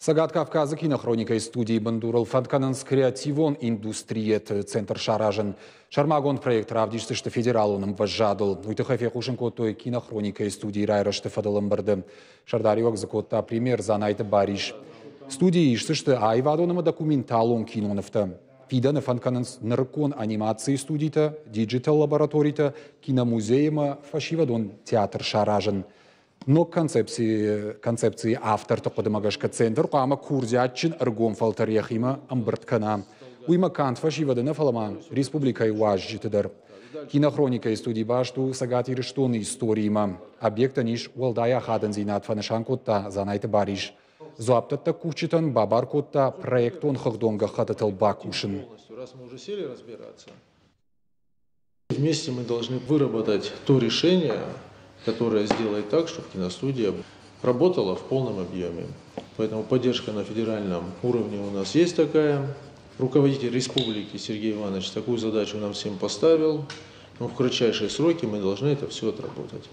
Цӕгат Кавказы кинохроникӕйы студийы бындурыл фӕнд кӕнынц креативон индустрияты центр саразын. Сӕрмагонд проект равдисдзысты федералон ӕмвӕзадыл. Уый тыххӕй фехъусын кодтой кинохроникӕйы студийы райрӕзты фӕдыл ӕмбырды. Сӕрдариуӕг дзы кодта премьер Дзанайты Барис. Студийы исдзысты аивадон ӕмӕ документалон кинонывтӕ. Фидӕны фӕнд кӕнынц нырыккон анимацийы студитӕ, диджитал-лабораторитӕ, киномузей ӕмӕ фӕсивӕдон театр саразын. Ног концепцийы, концепцийы авторты хъуыдымӕ гӕсгӕ центр хъуамӕ курдиатджын ӕргом фӕлтӕр йӕхимӕ ӕмбырд кӕна. Уыимӕ канд фӕсивӕды нӕ, фӕлӕ ма республикӕйы уазджыты дӕр. Кинохроникӕйы студи баст у Цӕгат Ирыстоны историимӕ. Объектӕн ис уӕлдай ахадындзинад, фӕнысан кодта Дзанайты Барис. Дзуапдӕттӕг кусджытӕн бабар кодта проектон хыгъдон гӕххӕттытыл бакусын. Вместе мы должны выработать то решение, которое сделает так, чтобы киностудия работала в полном объеме. Поэтому поддержка на федеральном уровне у нас есть такая. Руководитель республики Сергей Иванович такую задачу нам всем поставил. Но в кратчайшие сроки мы должны это все отработать.